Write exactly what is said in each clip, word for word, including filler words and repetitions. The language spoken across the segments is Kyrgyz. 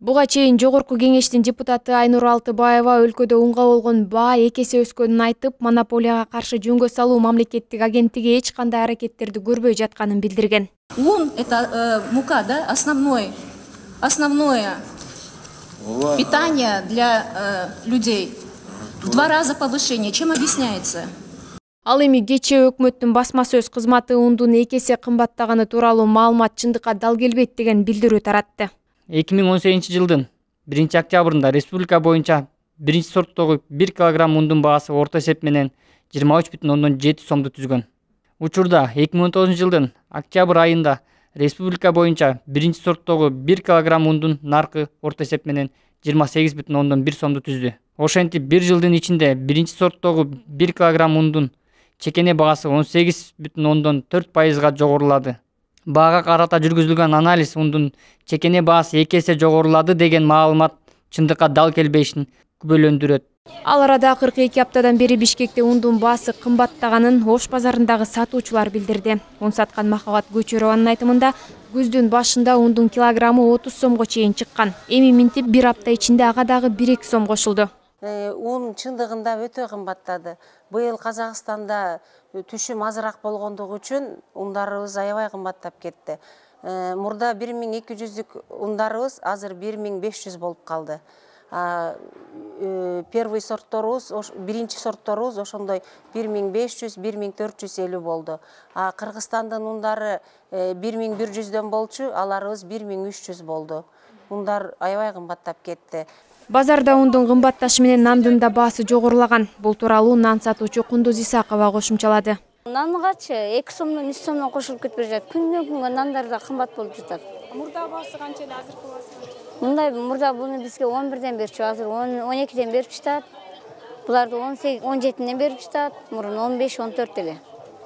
Буга чейин Жогорку кеңештин депутаты Айнур Алтыбаева өлкөдө унга болгон баа эки эсе өскөнүн айтып, монополияга каршы жөнгө салуу мамлекеттик агенттиги эч кандай аракеттерди көрбөй жатканын билдирген. ун это э, мука, да, основной, основное питание для э, людей. В два раза повышение. Чем объясняется? Ал эми кечээ өкмөттүн басма сөз кызматы ундун эки эсе кымбаттаганы тууралуу маалымат чындыкка дал келбейт деген билдирүү таратты. эки миң он сегизинчи жылдын биринчи октябрында республика боюнча биринчи сорттогу бир килограмм ундун баасы орто эсеп менен жыйырма үч бүтүн ондон жети сомду түзгөн. Учурда эки миң он тогузунчу жылдын октябрь айында республика боюнча биринчи сорттогу бир килограмм ундун наркы орто эсеп менен жыйырма сегиз бүтүн ондон бир сомду түздү. Ошентип бир жылдын ичинде биринчи сорттогу бир килограмм ундун чекене баасы он сегиз бүтүн ондон төрт пайызга жогорулады. Баага карата жүргүзүлгөн анализ ундун чекене баасы эки эсе жогорулады деген маалымат чындыкка дал келбешин күбөлөндүрөт. Ал арада кырк эки аптадан бери Бишкекте ундун баасы кымбаттаганын Ош базарындагы сатуучулар билдирди. Un саткан Махабат Көчөрованын айтымында күздүн башында ундун килограммы отуз сомго чейин чыккан. Эми минтип бир апта ичинде ага дагы бир эки сом кошулду. Un чындыгында өтө кымбаттады. Быйыл Казакстанда түшүм азыраак болгондугу үчүн ундарыбыз аябай кымбаттап кетти. Мурда бир миң эки жүздүк ундарыбыз азыр бир миң беш жүз болуп калды. Первый сортторубуз, биринчи сортторубуз ошондой бир миң беш жүз, бир миң төрт жүз элүү болду. А Кыргызстандын ундары бир миң бир жүздөн болчу, аларыбыз бир миң үч жүз болду. Ундар аябай кымбаттап кетти. Базарда ундун кымбатташы менен нандын да баасы жогорулаган. Бул тууралуу нан сатуучу Кундуз Исакова кошумчалады. Нангачы эки сомдон үч сомдон кошулуп кетип жатат. Күндөн күнгө нандар да кымбат болуп жатат. Мурда баасы канча эле, азыркы баасы канча? Мындай мурда буну бизге он бирден берчү, азыр он экиден берип жатат. Буларды он сегиз, он жетиден берип жатат. Мурун он беш, он төрт эле.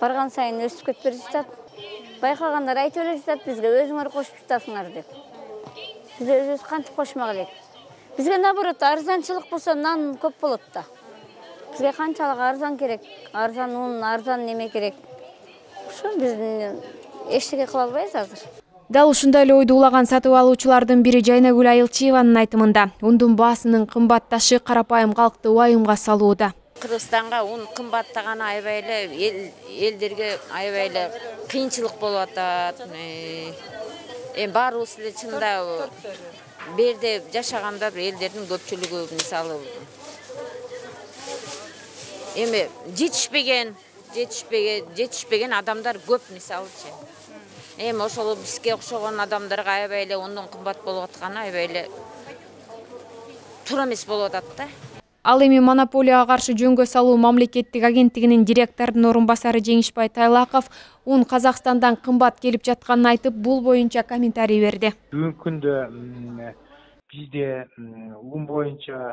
Барган сайын өсүп кетип берип жатат. Байкагандар айтып эле жатат, бизге өзүңөр кошуп жатасыңар деп. Биз өзүбүз кантип кошмак элек? Бизге наоборот арзанчылык болсо нан көп болот да. Бизге канчалык арзан керек? Арзан un, арзан неме керек? Ошо биз эчтеке кыла албайбыз азыр. Дал ушундай эле ойду улаган сатып алуучулардын бири Жайнагүл Айылчиеванын айтымында, ундун баасынын кымбатташы карапайым калкты уайымга салууда. Кыргызстанга un кымбаттаганы аябай эле элдерге аябай эле кыйынчылык болуп атат. Эми баарыбыз эле чында берде жашаганда элдердин көпчүлүгү мисалы эми жетишпеген, жетишпеген, жетишпеген адамдар көп мисалычы. Эми ошол бизге окшогон адамдарга аябай эле ондон кымбат болуп атканы аябай эле туура эмес болуп атат да. Ал эми монополияга каршы жөнгө салуу мамлекеттик агенттигинин директорунун орун басары Жеңишбай Тайлаков un Казакстандан кымбат келип жатканын айтып, бул боюнча комментарий берди. Бүгүнкү күндө бизде un боюнча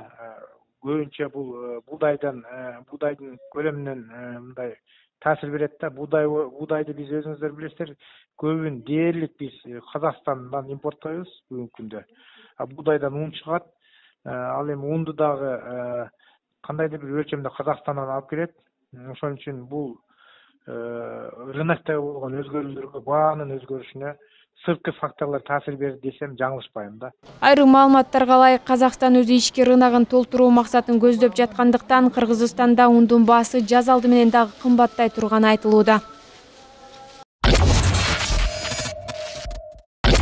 көбүнчө бул буудайдан, буудайдын көлөмүнөн мындай таасир берет да. Буудай буудайды биз өзүңүздөр билесиздер, көбүн дээрлик биз Казакстандан импорттойбуз бүгүнкү күндө. А буудайдан un чыгат. Ал эми унду дагы кандайдыр бир өлчөмдө Казакстандан алып келет. Ошон үчүн бул рыноктого болгон өзгөрүүлөргө, баанын өзгөрүшүнө сырткы факторлор таасир берди десем жаңылышпайм да. Айрым маалыматтарга ылайык, Казакстан өзү ички рыногун толтуруу максатын көздөп жаткандыктан Кыргызстанда ундун баасы жаз алды менен дагы кымбаттай турганы айтылууда.